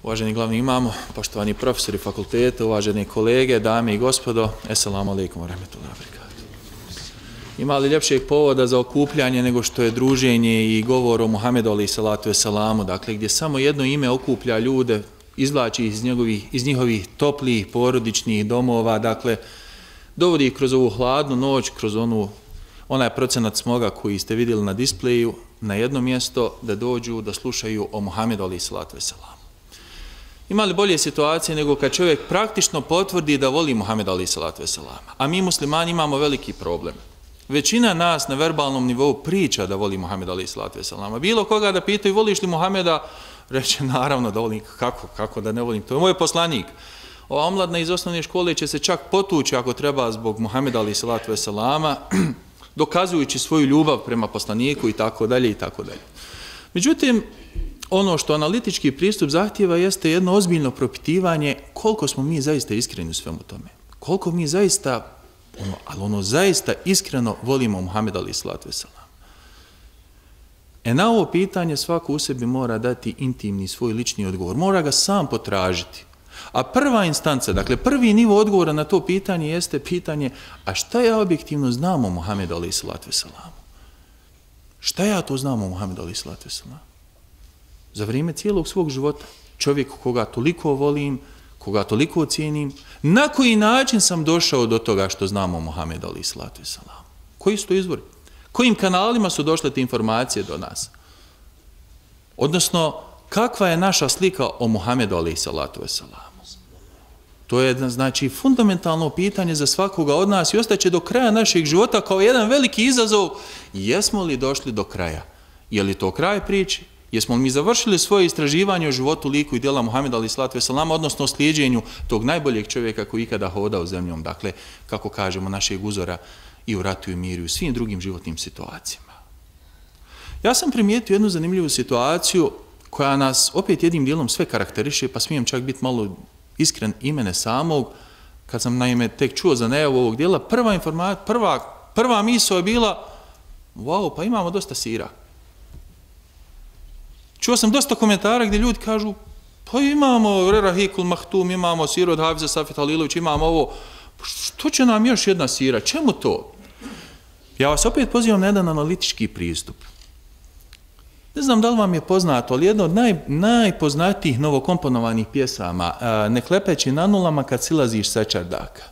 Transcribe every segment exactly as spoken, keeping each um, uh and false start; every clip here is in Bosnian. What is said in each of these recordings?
Uvaženi glavni imamo, poštovani profesori fakulteta, uvaženi kolege, dame i gospodo, Esselamu alaikum wa rahmetullahi wa barakatuh. Ima li ljepšeg povoda za okupljanje nego što je druženje i govor o Muhammedu alaihi salatu veselamu, dakle gdje samo jedno ime okuplja ljude, izvlači iz, njegovih, iz njihovih toplih porodičnih domova, dakle dovodi ih kroz ovu hladnu noć, kroz onu, onaj procenat smoga koji ste vidjeli na displeju, na jedno mjesto da dođu da slušaju o Muhammedu alaihi salatu veselamu. Ima li bolje situacije nego kad čovjek praktično potvrdi da voli Muhammeda alaihi salatu veselama? A mi muslimani imamo veliki problem. Većina nas na verbalnom nivou priča da voli Muhammeda alaihi salatu veselama. Bilo koga da pitaju voliš li Muhammeda, reče naravno da volim. Kako? Kako da ne volim? To je moj poslanik. Ova omladna iz osnovne škole će se čak potući ako treba zbog Muhammeda alaihi salatu veselama, dokazujući svoju ljubav prema poslaniku i tako dalje i tako dalje. Međutim, ono što analitički pristup zahtjeva jeste jedno ozbiljno propitivanje koliko smo mi zaista iskreni u svemu tome. Koliko mi zaista, ono, ali ono zaista iskreno volimo Muhammeda alaihi salatu veselam. E na ovo pitanje svako u sebi mora dati intimni svoj lični odgovor. Mora ga sam potražiti. A prva instanca, dakle prvi nivo odgovora na to pitanje jeste pitanje a šta ja objektivno znam o Muhammedu alaihi salatu veselamu? Šta ja to znam o Muhammedu alaihi salatu veselamu? Za vrijeme cijelog svog života, čovjek koga toliko volim, koga toliko cijenim, na koji način sam došao do toga što znamo o Muhammedu alaihi salatu veselamu? Koji su to izvori? Kojim kanalima su došle te informacije do nas? Odnosno, kakva je naša slika o Muhammedu alaihi salatu veselamu? To je, znači, fundamentalno pitanje za svakoga od nas i ostaće do kraja našeg života kao jedan veliki izazov. Jesmo li došli do kraja? Je li to kraj priče? Jesmo li mi završili svoje istraživanje o životu, liku i djela Muhammeda alaihi salatu veselama, odnosno o slijedjenju tog najboljeg čovjeka koji ikada hodao zemljom, dakle, kako kažemo, našeg uzora i u ratu i miru i u svim drugim životnim situacijama. Ja sam primijetio jednu zanimljivu situaciju koja nas opet jednim dijelom sve karakteriše, pa smijem čak biti malo iskren i mene samog, kad sam naime tek čuo za najavu ovog dijela, prva informacija, prva, prva misao je bila, wow, pa imamo dosta sira. Čuo sam dosta komentara gdje ljudi kažu, pa imamo Rerahikul Mahtum, imamo siru od Hafiza Safet Halilović, imamo ovo, što će nam još jedna sira, čemu to? Ja vas opet pozivam na jedan analitički pristup. Ne znam da li vam je poznato, ali jedno od naj, najpoznatijih novokomponovanih pjesama, Ne klepeći na nulama kad silaziš sa čardaka.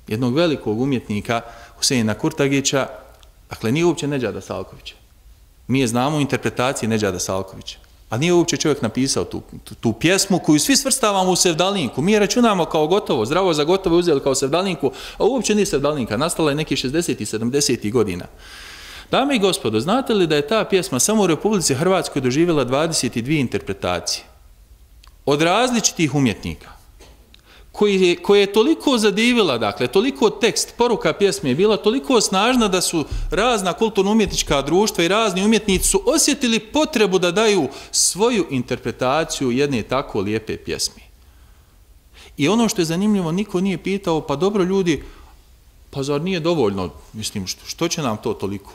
Jednog velikog umjetnika, Huseina Kurtagića, dakle nije uopće Nedžada Salkovića. Mi je znamo u interpretaciji Nedžada Salkovića. A nije uopće čovjek napisao tu, tu, tu pjesmu koju svi svrstavamo u sevdalinku. Mi je računamo kao gotovo, zdravo za gotovo uzeli kao sevdalinku, a uopće nije sevdalinka. Nastala je nekih šezdesetih i sedamdesetih godina. Dame i gospodo, znate li da je ta pjesma samo u Republici Hrvatskoj doživjela dvadeset dvije interpretacije od različitih umjetnika, koji je, koje je toliko zadivila, dakle, toliko tekst, poruka pjesme je bila toliko snažna da su razna kulturno-umjetnička društva i razni umjetnici su osjetili potrebu da daju svoju interpretaciju jedne tako lijepe pjesme. I ono što je zanimljivo, niko nije pitao, pa dobro ljudi, pa zar nije dovoljno, mislim, što, što će nam to toliko?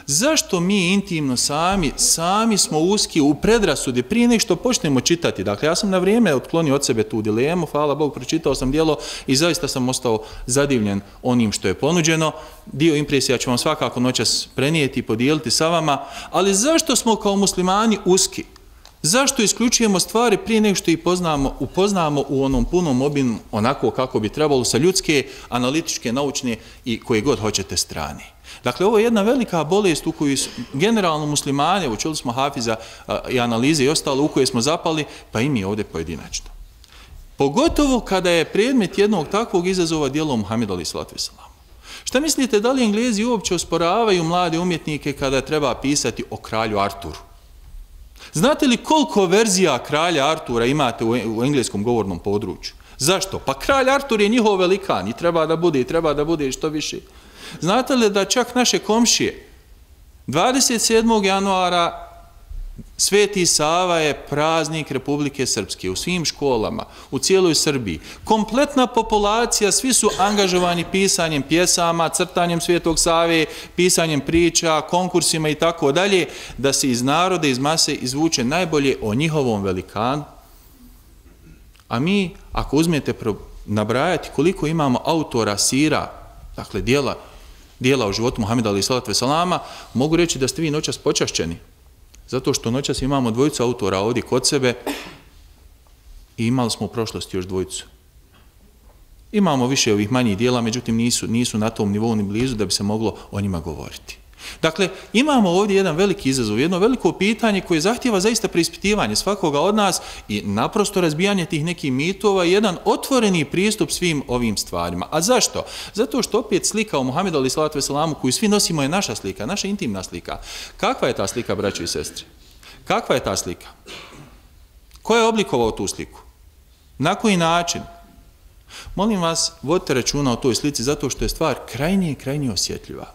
Zašto mi intimno sami, sami smo uski u predrasudi prije nek što počnemo čitati? Dakle, ja sam na vrijeme otklonio od sebe tu dilemu, hvala Bogu, pročitao sam djelo i zaista sam ostao zadivljen onim što je ponuđeno. Dio impresija ću vam svakako noćas prenijeti i podijeliti sa vama, ali zašto smo kao muslimani uski? Zašto isključujemo stvari prije nek što ih poznamo, upoznamo u onom punom obimu onako kako bi trebalo sa ljudske, analitičke, naučne i koje god hoćete strane? Dakle, ovo je jedna velika bolest u koju generalno muslimane, učili smo Hafiza i analize i ostalo, u koje smo zapali, pa i mi ovdje pojedinačno. Pogotovo kada je predmet jednog takvog izazova djelo Muhammedu alaihi salatu veselamu. Šta mislite, da li Englezi uopće osporavaju mlade umjetnike kada treba pisati o kralju Arturu? Znate li koliko verzija kralja Artura imate u engleskom govornom području? Zašto? Pa kralj Artur je njihov velikan i treba da bude i treba da bude što više. Znate li da čak naše komšije dvadeset sedmog januara Sveti Sava je praznik Republike Srpske u svim školama, u cijeloj Srbiji. Kompletna populacija, svi su angažovani pisanjem pjesama, crtanjem Svetog Save, pisanjem priča, konkursima i tako dalje, da se iz naroda, iz mase izvuče najbolje o njihovom velikanu. A mi, ako uzmete nabrajati koliko imamo autora sira, dakle dijela, dijela o životu Muhameda alejhi selatu vesselama, mogu reći da ste vi noćas počašćeni. Zato što noćas imamo dvojicu autora ovdje kod sebe i imali smo u prošlosti još dvojicu. Imamo više ovih manjih dijela, međutim nisu, nisu na tom nivou ni blizu da bi se moglo o njima govoriti. Dakle, imamo ovdje jedan veliki izazov, jedno veliko pitanje koje zahtijeva zaista preispitivanje svakoga od nas i naprosto razbijanje tih nekih mitova i jedan otvoreni pristup svim ovim stvarima. A zašto? Zato što opet slika o Muhammedu alejhi selatu veselamu koju svi nosimo je naša slika, naša intimna slika. Kakva je ta slika, braćo i sestre? Kakva je ta slika? Ko je oblikovao tu sliku? Na koji način? Molim vas, vodite računa o toj slici zato što je stvar krajnije i krajnije osjetljiva.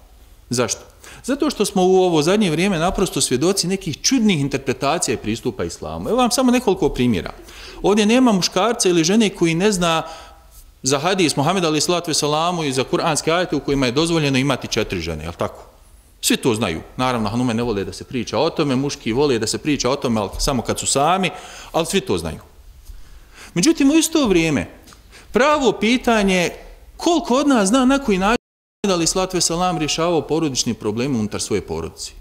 Zašto? Zato što smo u ovo zadnje vrijeme naprosto svjedoci nekih čudnih interpretacija i pristupa islamu. Evo vam samo nekoliko primjera. Ovdje nema muškarca ili žene koji ne zna za hadis Muhameda alejhi selatu veselamu i za kuranske ajete u kojima je dozvoljeno imati četiri žene, je li tako? Svi to znaju. Naravno, hanume ne vole da se priča o tome, muški vole da se priča o tome, ali samo kad su sami, ali svi to znaju. Međutim, u isto vrijeme, pravo pitanje koliko od nas zna na koji način Muhammed alejhi selatu vesselam rješavao porodični problem unutar svoje porodice.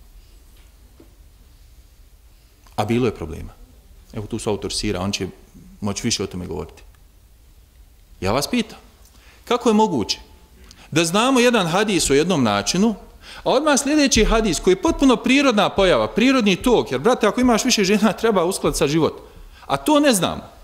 A bilo je problema. Evo tu su autor sira, on će moći više o tome govoriti. Ja vas pitam, kako je moguće da znamo jedan hadis o jednom načinu, a odmah sljedeći hadis koji je potpuno prirodna pojava, prirodni tok, jer brate, ako imaš više žena, treba uskladiti sa život. A to ne znamo.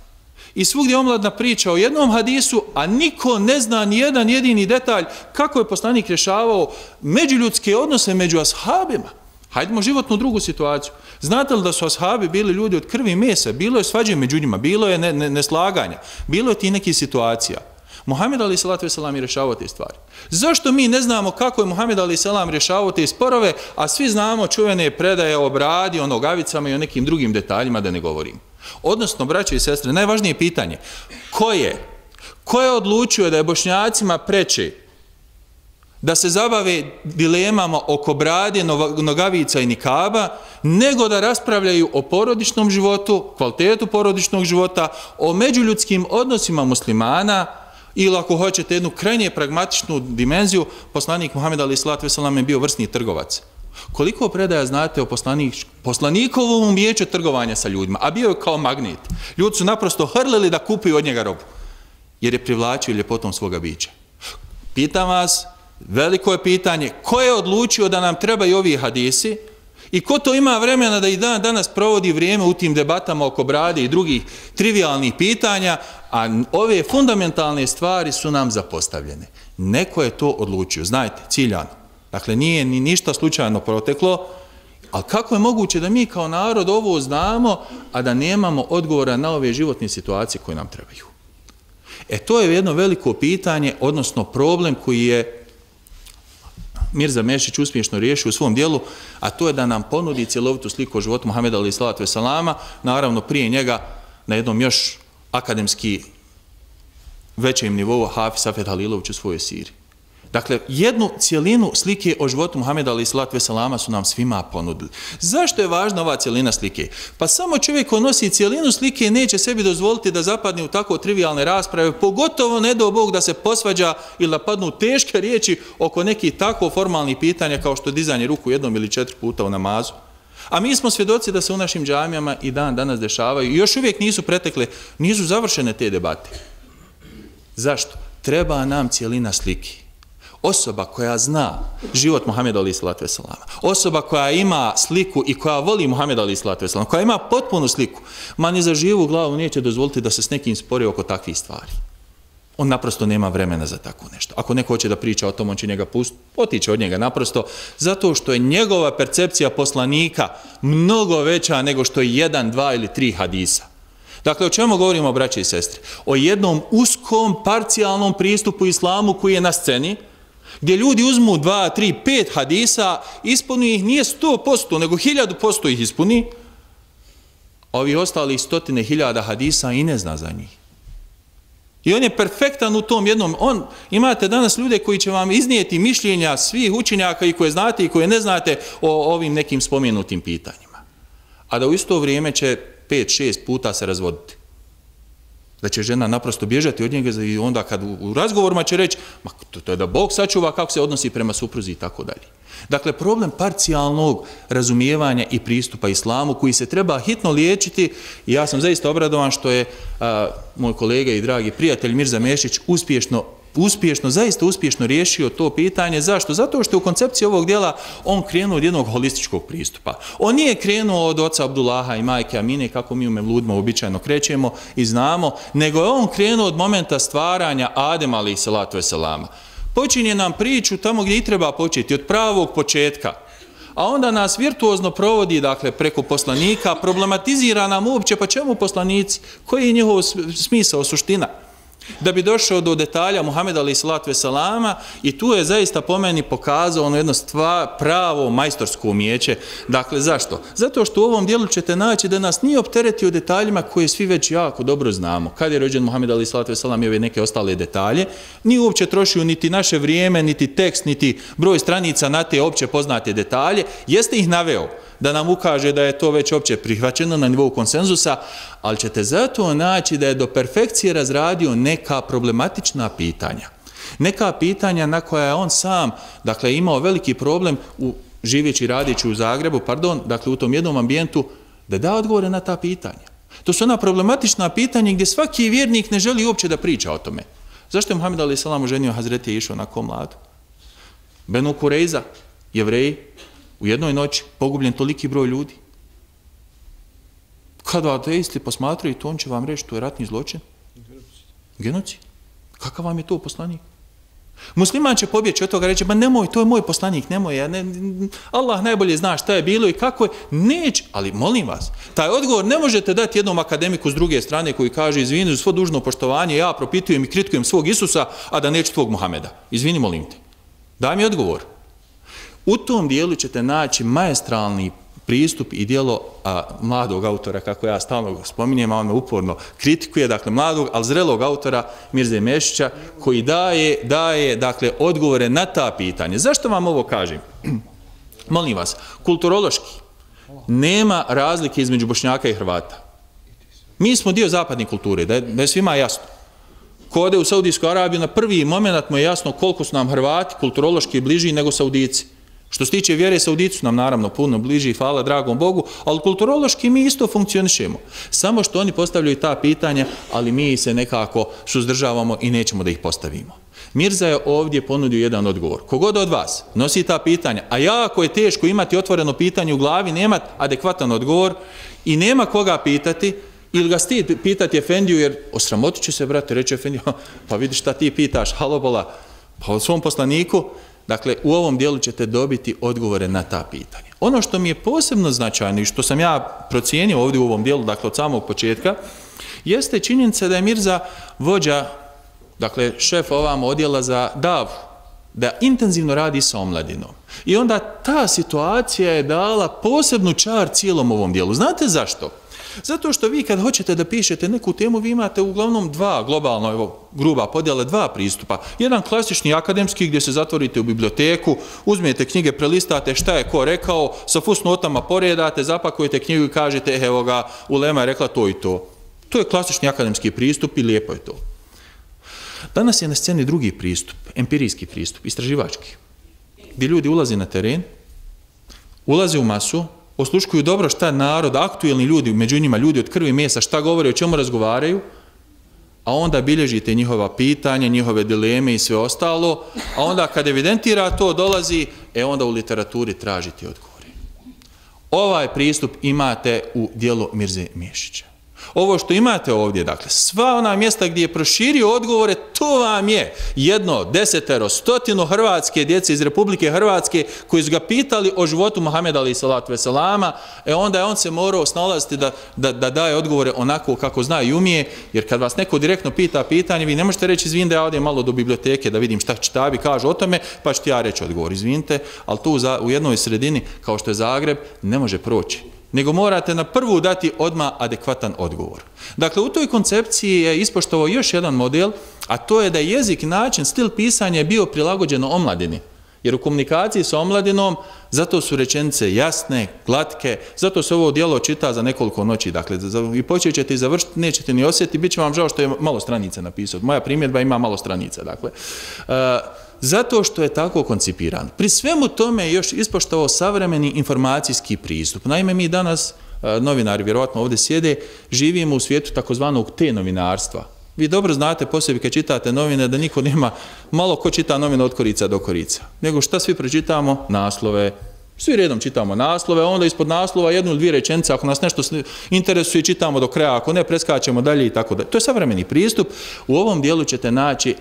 I svugdje omladna priča o jednom hadisu, a niko ne zna ni jedan jedini detalj kako je poslanik rješavao međuljudske odnose među ashabima. Hajdemo životnu drugu situaciju. Znate li da su ashabi bili ljudi od krvi i mesa? Bilo je svađe među njima, bilo je neslaganja, ne, ne bilo je ti nekih situacija. Muhammed alejhi selatu vesselam je rješavao te stvari. Zašto mi ne znamo kako je Muhammed alejhi selam rješavao te sporove, a svi znamo čuvene predaje o bradi, o nogavicama i o nekim drugim detaljima da ne govorim? Odnosno, braće i sestre, najvažnije pitanje, ko je, ko je odlučio da je Bošnjacima preče da se zabave dilemama oko brade, nogavica i nikaba, nego da raspravljaju o porodičnom životu, kvalitetu porodičnog života, o međuljudskim odnosima muslimana, ili ako hoćete jednu krajnje pragmatičnu dimenziju, poslanik Muhammed alejhi selatu vesselam je bio vrsni trgovac. Koliko predaja znate o poslanik, poslanikovom umijeću trgovanja sa ljudima, a bio je kao magnet. Ljudi su naprosto hrlili da kupuju od njega robu, jer je privlačio ljepotom svoga bića. Pitam vas, veliko je pitanje, ko je odlučio da nam trebaju ovi hadisi i ko to ima vremena da i dan danas provodi vrijeme u tim debatama oko brade i drugih trivialnih pitanja, a ove fundamentalne stvari su nam zapostavljene. Neko je to odlučio, znajte, ciljano. Dakle, nije ni ništa slučajno proteklo, ali kako je moguće da mi kao narod ovo znamo, a da nemamo odgovora na ove životne situacije koje nam trebaju? E, to je jedno veliko pitanje, odnosno problem koji je Mirza Mešić uspješno riješio u svom dijelu, a to je da nam ponudi cjelovitu sliku o životu Muhameda alejhi selatu vesselama, naravno prije njega na jednom još akademski većem nivou Hafiz Safet Halilović u svojoj siri. Dakle, jednu cijelinu slike o životu Muhameda alejhi selatu vesselama su nam svima ponudili. Zašto je važna ova cijelina slike? Pa samo čovjek ko nosi cijelinu slike neće sebi dozvoliti da zapadne u tako trivialne rasprave, pogotovo ne do Bog da se posvađa ili da padnu teške riječi oko nekih tako formalnih pitanja kao što dizanje ruku jednom ili četiri puta u namazu. A mi smo svjedoci da se u našim džamijama i dan danas dešavaju i još uvijek nisu pretekle, nisu završene te debate. Zašto? Treba nam cijelina slike. Osoba koja zna život Muhameda alejhi selatu vesselama, osoba koja ima sliku i koja voli Muhameda alejhi selatu vesselama, koja ima potpunu sliku, ma ni za živu glavu neće dozvoliti da se s nekim spori oko takvih stvari. On naprosto nema vremena za tako nešto. Ako neko hoće da priča o tom, on će njega pustiti, otići od njega naprosto, zato što je njegova percepcija poslanika mnogo veća nego što je jedan, dva ili tri hadisa. Dakle, o čemu govorimo, braće i sestre? O jednom uskom, parcijalnom pristupu islamu koji je na sceni, gdje ljudi uzmu dva, tri, pet hadisa, ispuni ih nije sto posto, nego hiljadu posto ih ispuni, a ovi ostali stotine hiljada hadisa i ne zna za njih. I on je perfektan u tom jednom. On, imate danas ljude koji će vam iznijeti mišljenja svih učenjaka i koje znate i koje ne znate o ovim nekim spomenutim pitanjima. A da u isto vrijeme će pet, šest puta se razvoditi. Da će žena naprosto bježati od njega i onda kad u razgovorima će reći, ma to je da Bog sačuva kako se odnosi prema supruzi i tako dalje. Dakle, problem parcijalnog razumijevanja i pristupa islamu koji se treba hitno liječiti i ja sam zaista obradovan što je a, moj kolega i dragi prijatelj Mirza Mešić uspješno uspješno, zaista uspješno riješio to pitanje. Zašto? Zato što je u koncepciji ovog dijela on krenuo od jednog holističkog pristupa. On nije krenuo od oca Abdullaha i majke Amine, kako mi u Mevludima običajno krećemo i znamo, nego je on krenuo od momenta stvaranja Adema alejhi salatu vesselama. Počinje nam priču tamo gdje i treba početi, od pravog početka. A onda nas virtuozno provodi, dakle, preko poslanika, problematizira nam uopće, pa čemu poslanici? Koji je njihov smisao, suština? Da bi došao do detalja Muhameda alejhi salatu vesselama i tu je zaista po meni pokazao ono jedno stvar, pravo majstorsko umijeće. Dakle, zašto? Zato što u ovom dijelu ćete naći da nas nije opteretio detaljima koje svi već jako dobro znamo. Kad je rođen Muhammed alejhi salatu vesselam i ove neke ostale detalje, nije uopće trošio niti naše vrijeme, niti tekst, niti broj stranica na te opće poznate detalje. Jeste ih naveo da nam ukaže da je to već opće prihvaćeno na nivou konsenzusa, ali ćete zato naći da je do perfekcije razradio neka problematična pitanja. Neka pitanja na koja je on sam, dakle, imao veliki problem u živeći, radići u Zagrebu, pardon, dakle, u tom jednom ambijentu, da da odgovore na ta pitanja. To su ona problematična pitanja gdje svaki vjernik ne želi uopće da priča o tome. Zašto je Muhammed alejhi selam oženio Hazreti Aishu onako mladu? Benu Kurejza, Jevreji, u jednoj noći pogubljen toliki broj ljudi. Kada ateisti posmatraju to, on će vam reći to je ratni zločin. Genocid. Kakav vam je to poslanik? Musliman će pobjeći od toga, reći, ba nemoj, to je moj poslanik, nemoj, ja ne, Allah najbolje zna šta je bilo i kako je. Neće, ali molim vas, taj odgovor ne možete dati jednom akademiku s druge strane koji kaže, izvini, uz svo dužno poštovanje, ja propitujem i kritikujem svog Isusa, a da neću tvog Muhameda. Izvini, molim te. Daj mi odgovor. U tom dijelu ćete naći maestralni pristup i dijelo a, mladog autora, kako ja stalno spominjem, a on me uporno kritikuje, dakle mladog, ali zrelog autora Mirze Mešića, koji daje, daje dakle, odgovore na ta pitanja. Zašto vam ovo kažem? Molim vas, kulturološki nema razlike između Bošnjaka i Hrvata. Mi smo dio zapadne kulture, da je, da je svima jasno. Ko ode u Saudijsku Arabiju, na prvi moment mu je jasno koliko su nam Hrvati kulturološki bliži nego Saudici. Što se tiče vjere, Saudici su nam naravno puno bliži, hvala dragom Bogu, ali kulturološki mi isto funkcionišemo. Samo što oni postavljaju ta pitanja, ali mi se nekako suzdržavamo i nećemo da ih postavimo. Mirza je ovdje ponudio jedan odgovor. Kogod od vas nosi ta pitanja, a jako je teško imati otvoreno pitanje u glavi, nema adekvatan odgovor i nema koga pitati, ili ga stid pitati Efendiju, jer osramotit će se, brate, reći Efendiju, pa vidiš šta ti pitaš, halobola, pa od svom poslaniku. Dakle, u ovom dijelu ćete dobiti odgovore na ta pitanja. Ono što mi je posebno značajno i što sam ja procijenio ovdje u ovom dijelu, dakle od samog početka, jeste činjenica da je Mirza vođa, dakle šef ovam odjela za davu, da intenzivno radi sa omladinom. I onda ta situacija je dala posebnu čar cijelom ovom dijelu. Znate zašto? Zato što vi kad hoćete da pišete neku temu, vi imate uglavnom dva, globalno, evo, gruba podjela, dva pristupa. Jedan klasični akademski gdje se zatvorite u biblioteku, uzmete knjige, prelistate šta je ko rekao, sa fusnotama poredate, zapakujete knjigu i kažete, evo ga, ulema je rekla to i to. To je klasični akademski pristup i lijepo je to. Danas je na sceni drugi pristup, empirijski pristup, istraživački, gdje ljudi ulaze na teren, ulaze u masu, osluškuju dobro šta narod, aktuelni ljudi, među njima ljudi od krvi i mesa, šta govore, o čemu razgovaraju, a onda bilježite njihova pitanja, njihove dileme i sve ostalo, a onda kad evidentira to dolazi, e onda u literaturi tražite odgovore. Ovaj pristup imate u dijelu Mirze Mešića. Ovo što imate ovdje, dakle, sva ona mjesta gdje je proširio odgovore, to vam je jedno, desetero, stotino hrvatske djece iz Republike Hrvatske koji su ga pitali o životu Muhameda alejhi salatu vesselama, e onda je on se morao snalaziti da, da, da daje odgovore onako kako zna i umije, jer kad vas neko direktno pita pitanje, vi ne možete reći, izvin da ja odem malo do biblioteke da vidim šta čitabi kažu o tome, pa ću ti ja reći odgovor, izvinite, ali tu za, u jednoj sredini, kao što je Zagreb, ne može proći. nego morate na prvu dati odmah adekvatan odgovor. Dakle, u toj koncepciji je ispoštovao još jedan model, a to je da jezik, način, stil pisanja je bio prilagođeno omladini. Jer u komunikaciji sa omladinom, zato su rečenice jasne, glatke, zato se ovo djelo čita za nekoliko noći. Dakle, i počet ćete i završiti, nećete ni osjetiti, bit će vam žao što je malo stranica napisao. Moja primjedba ima malo stranica. Dakle, uh, zato što je tako koncipiran. Pri svemu tome je još ispoštovao savremeni informacijski pristup. Naime, mi danas, uh, novinari, vjerovatno ovdje sjede, živimo u svijetu takozvanog te-novinarstva. Vi dobro znate po sebi kad čitate novine da niko nema, malo ko čita novine od korica do korica. Nego šta svi pročitamo? Naslove. Svi redom čitamo naslove, onda ispod naslova jednu ili dvije rečenice, ako nas nešto interesuje, čitamo do kraja, ako ne, preskačemo dalje i tako dalje. To je savremeni pristup. U ovom dijelu ćete naći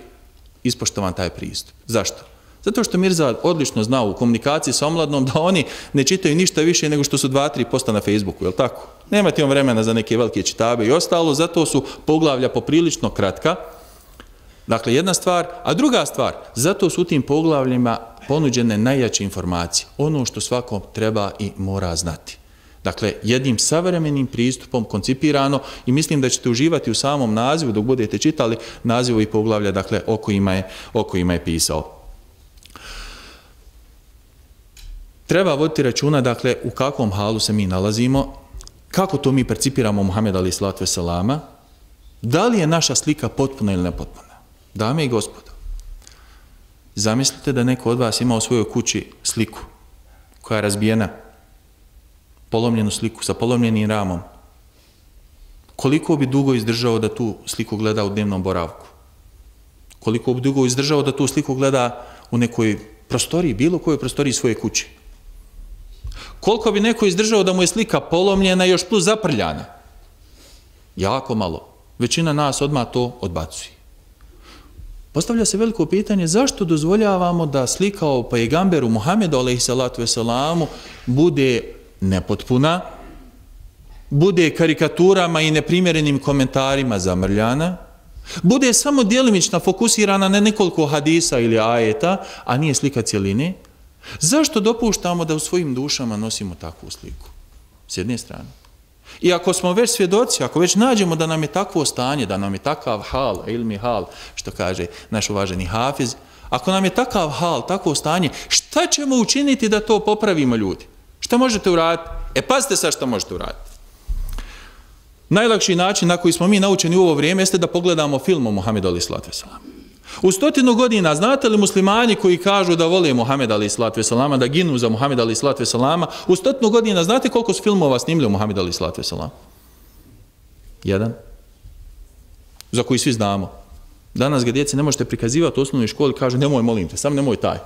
ispoštovan taj pristup. Zašto? Zato što Mirza odlično zna u komunikaciji sa omladnom da oni ne čitaju ništa više nego što su dva, tri posta na Facebooku, je li tako? Nemate on vremena za neke velike čitabe i ostalo, zato su poglavlja poprilično kratka. Dakle, jedna stvar, a druga stvar, zato su u tim poglavljima ponuđene najjače informacije, ono što svako treba i mora znati. Dakle, jednim savremenim pristupom koncipirano i mislim da ćete uživati u samom nazivu dok budete čitali nazivu i poglavlja, dakle, o kojima je, o kojima je pisao. Treba voditi računa, dakle, u kakvom halu se mi nalazimo, kako to mi percipiramo Muhameda alejhi selatu vesselama, da li je naša slika potpuna ili nepotpuna. Dame i gospodo, zamislite da neko od vas ima u svojoj kući sliku koja je razbijena, polomljenu sliku sa polomljenim ramom. Koliko bi dugo izdržao da tu sliku gleda u dnevnom boravku? Koliko bi dugo izdržao da tu sliku gleda u nekoj prostoriji, bilo kojoj prostoriji svoje kuće? Koliko bi neko izdržao da mu je slika polomljena i još plus zaprljana? Jako malo. Većina nas odmah to odbacuje. Postavlja se veliko pitanje zašto dozvoljavamo da slika o pejgamberu Muhammedu alejhi selatu veselamu bude nepotpuna, bude karikaturama i neprimjerenim komentarima zamrljana, bude samo djelimično fokusirana na nekoliko hadisa ili ajeta, a nije slika cjeline. Zašto dopuštamo da u svojim dušama nosimo takvu sliku? S jedne strane. I ako smo već svjedoci, ako već nađemo da nam je takvo stanje, da nam je takav hal, ilmi hal, što kaže naš uvaženi Hafiz, ako nam je takav hal, takvo stanje, šta ćemo učiniti da to popravimo, ljudi? Šta možete uraditi? E, pazite sad šta možete uraditi. Najlakši način na koji smo mi naučeni u ovo vrijeme jeste da pogledamo film o Muhammedu alejhi selatu vesselam. U stotinu godina, znate li muslimani koji kažu da vole Muhammeda alejhi selatu vesselama, da ginu za Muhammeda alejhi selatu vesselama, u stotinu godina, znate koliko su filmova snimili o Muhammedu alejhi selatu vesselam? Jedan. Za koji svi znamo. Danas ga djeci ne možete prikazivati u osnovnoj školi, kaže nemoj, molim te, sam nemoj taj.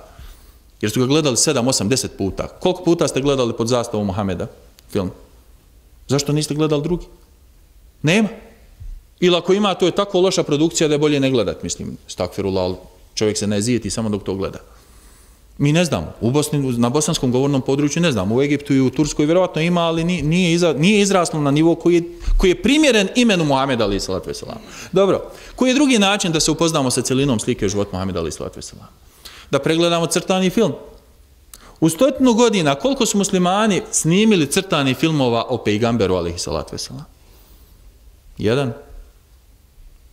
Jer su ga gledali sedam, osam, deset puta. Koliko puta ste gledali pod zastavom Muhameda film? Zašto niste gledali drugi? Nema. Ili ako ima, to je tako loša produkcija da je bolje ne gledat, mislim, stakfirullah, čovjek se ne zijeti samo dok to gleda. Mi ne znamo, u Bosni, na bosanskom govornom području ne znamo, u Egiptu i u Turskoj vjerovatno ima, ali nije, iza, nije izraslo na nivo koji je, koji je primjeren imenu Muhameda alejhi selatu vesselam. Dobro, koji je drugi način da se upoznamo sa cjelinom slike u životu Muhameda alejhi selatu vesselam? Da pregledamo crtani film. U stotinu godina koliko su muslimani snimili crtani filmova o pejgamberu alejhi selatu vesselam? Jedan.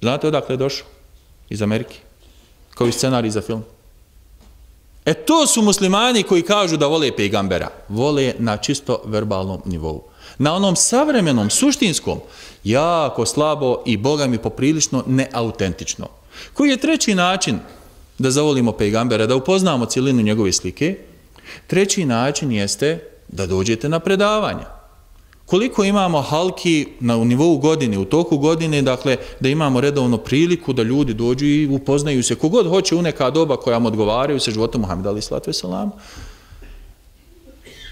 Znate odakle je došao? Iz Amerike. Kao i scenarij za film. E to su muslimani koji kažu da vole pejgambera. Vole na čisto verbalnom nivou. Na onom savremenom, suštinskom, jako slabo i Boga mi poprilično neautentično. Koji je treći način da zavolimo pejgambera, da upoznamo cijelinu njegove slike? Treći način jeste da dođete na predavanja. Koliko imamo halki na nivou godine, u toku godine, dakle, da imamo redovno priliku da ljudi dođu i upoznaju se, kogod hoće u neka doba koja mu odgovaraju sa životom Muhameda alejhi selatu vesselam.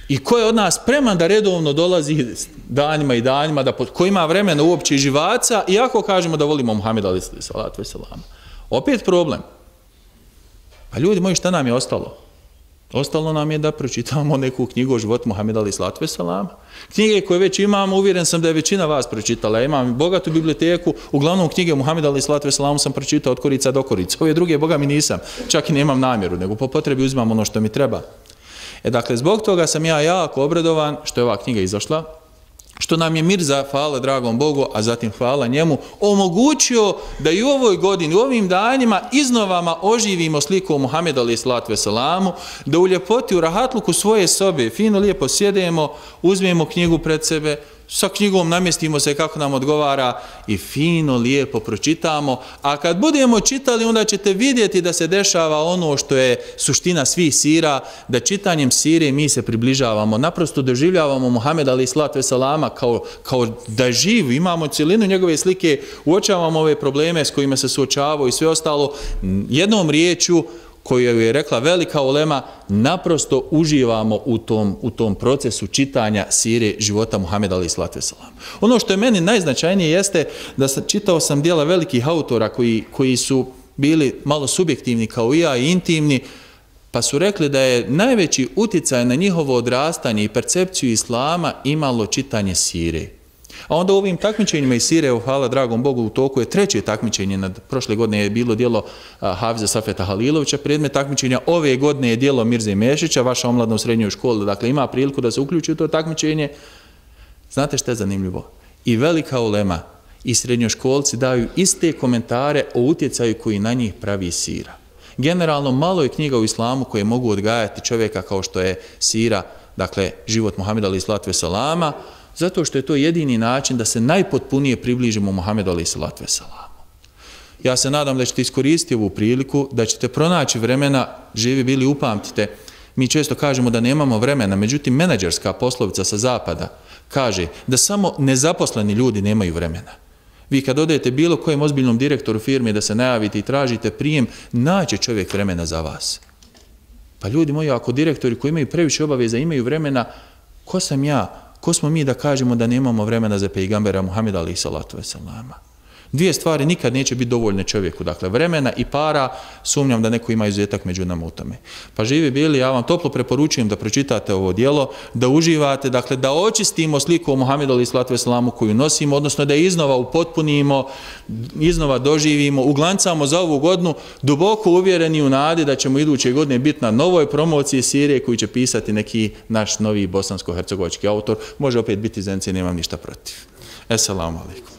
I ko je od nas spreman da redovno dolazi danima i danima, da, ko ima vremena uopće i živaca, iako kažemo da volimo Muhameda alejhi selatu vesselam. Opet problem. Pa ljudi moji, šta nam je ostalo? Ostalo nam je da pročitamo neku knjigu o životu Muhameda alejhi selatu vesselam. Knjige koje već imamo, uvjeren sam da je većina vas pročitala. Ja imam bogatu biblioteku, uglavnom knjige Muhameda alejhi selatu vesselam sam pročitao od korica do korica. Ove druge, boga mi nisam, čak i nemam namjeru, nego po potrebi uzimam ono što mi treba. E dakle, zbog toga sam ja jako obradovan što je ova knjiga izašla. što nam je Mirza, hvala dragom Bogu, a zatim hvala njemu, omogućio da i u ovoj godini, u ovim danima iznovama oživimo sliku Muhameda alejhi selatu veselamu, da u ljepoti, u rahatluku svoje sobe, fino lijepo sjedemo, uzmemo knjigu pred sebe, sa knjigom namjestimo se kako nam odgovara i fino, lijepo pročitamo, a kad budemo čitali onda ćete vidjeti da se dešava ono što je suština svih sira, da čitanjem sire mi se približavamo, naprosto doživljavamo Muhameda alejhi selatu veselama kao, kao da je živ, imamo cijelinu njegove slike, uočavamo ove probleme s kojima se suočavaju i sve ostalo, jednom riječju koju je rekla velika ulema, naprosto uživamo u tom, u tom procesu čitanja sire života Muhameda alejhi selatu veselam. Ono što je meni najznačajnije jeste da sam, čitao sam dijela velikih autora koji, koji su bili malo subjektivni kao i ja i intimni, pa su rekli da je najveći utjecaj na njihovo odrastanje i percepciju islama imalo čitanje sire. A onda u ovim takmičenjima iz sire, hvala dragom Bogu, u toku je treće takmičenje, nad prošle godine je bilo dijelo Hafiza Safeta Halilovića, predmet takmičenja ove godine je dijelo Mirze Mešića, vaša omladna u srednjoj školi, dakle ima priliku da se uključi u to takmičenje. Znate što je zanimljivo? I velika ulema i srednjoškolci daju iste komentare o utjecaju koji na njih pravi sira. Generalno, malo je knjiga u islamu koje mogu odgajati čovjeka kao što je sira, dakle život Muhameda alejhi selatu veselama, zato što je to jedini način da se najpotpunije približimo Muhammedu alejhi selatu veselamu. Ja se nadam da ćete iskoristiti ovu priliku, da ćete pronaći vremena, živi bili upamtite, mi često kažemo da nemamo vremena, međutim menadžerska poslovica sa zapada kaže da samo nezaposleni ljudi nemaju vremena. Vi kad odete bilo kojem ozbiljnom direktoru firme da se najavite i tražite prijem, naće čovjek vremena za vas. Pa ljudi moji, ako direktori koji imaju previše obaveza imaju vremena, ko sam ja? Ko smo mi da kažemo da nemamo vremena za pejgambera Muhameda alejhi selatu veselama? Dvije stvari nikad neće biti dovoljne čovjeku, dakle vremena i para, sumnjam da neko ima izuzetak među nama u tome. Pa živi bili, ja vam toplo preporučujem da pročitate ovo djelo, da uživate, dakle da očistimo sliku o Muhammedu alejhi selatu veselamu koju nosimo, odnosno da je iznova upotpunimo, iznova doživimo, uglancamo za ovu godinu, duboko uvjereni u nadi da ćemo iduće godine biti na novoj promociji sirije koju će pisati neki naš novi bosansko-hercegovački autor, može opet biti Zence, nemam ništa protiv. Esselamu alaikum.